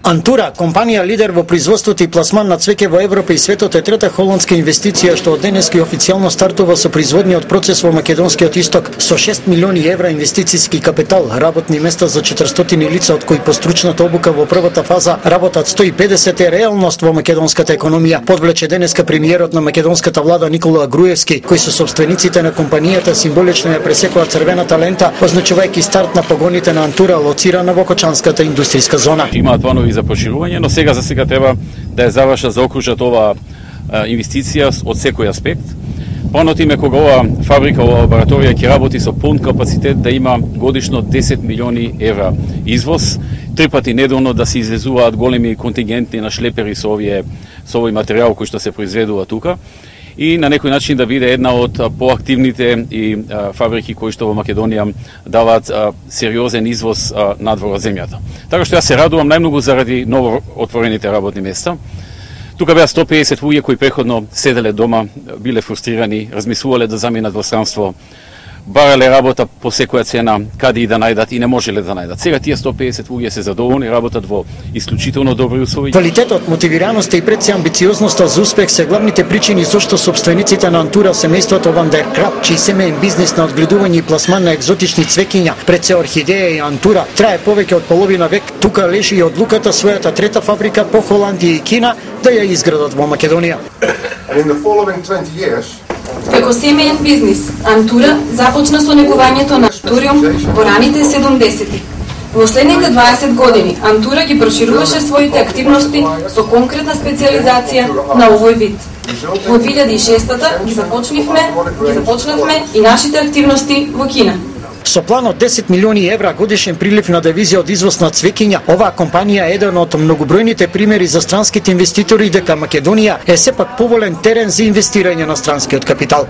Антура, компанија лидер во производството и пласман на цвеќе во Европа и светот, е трета холандска инвестиција што од денески официјално стартува со производниот процес во македонскиот исток со 6 милиони евра инвестициски капитал, работни места за 400 лица, од кои по стручната обука во првата фаза работат 150, е реалност во македонската економија, подвлече денеска премиерот на македонската влада Никола Груевски, кои со собствениците на компанијата символично ја пресекоа црвената лента, означувајќи старт на погоните на Антура, лоцирана во Кочанската индустријска зона. Имаат планови за проширување, но сега треба да ја завршат, заокружат ова инвестиција од секој аспект. Планот им е кога ова фабрика, ова лабораторија ќе работи со полн капацитет да има годишно 10 милиони евра извоз, 3 пати неделно да се извезуваат големи контингенти на шлепери со овој материјал кој што се произведува тука, и на некој начин да биде една од поактивните и фабрики кои што во Македонија даваат сериозен извоз надвор од земјата. Така што јас се радувам најмногу заради ново отворените работни места. Тука беа 150 луѓе кои преходно седеле дома, биле фрустрирани, размислувале да заминат во странство, барале работа по секоја цена, каде и да најдат и не можеле да најдат. Сега тие 150 луѓе се задоволни, работат во исклучително добри услови. Квалитетот, мотивираноста и пред се амбициозноста за успех се главните причини зашто собствениците на Антура, семејството Ван дер Крап, чиј семеен бизнис на одгледување и пласман на екзотични цвеќиња, пред се орхидеја и Антура, трае повеќе од половина век. Тука лежи и одлуката својата трета фабрика по Холандија и Кина да ја изградат во Македонија. Како семеен бизнис, Антура започна со негувањето на Антуриум во раните 70-ти. Во следните 20 години Антура ги прошируваше своите активности со конкретна специализација на овој вид. Во 2006-та ги започнавме и нашите активности во Кина. Со план од 10 милиони евра годишен прилив на девизија од извоз на цвеќиња, оваа компанија е еден од многобројните примери за странските инвеститори дека Македонија е сепак поволен терен за инвестирање на странскиот капитал.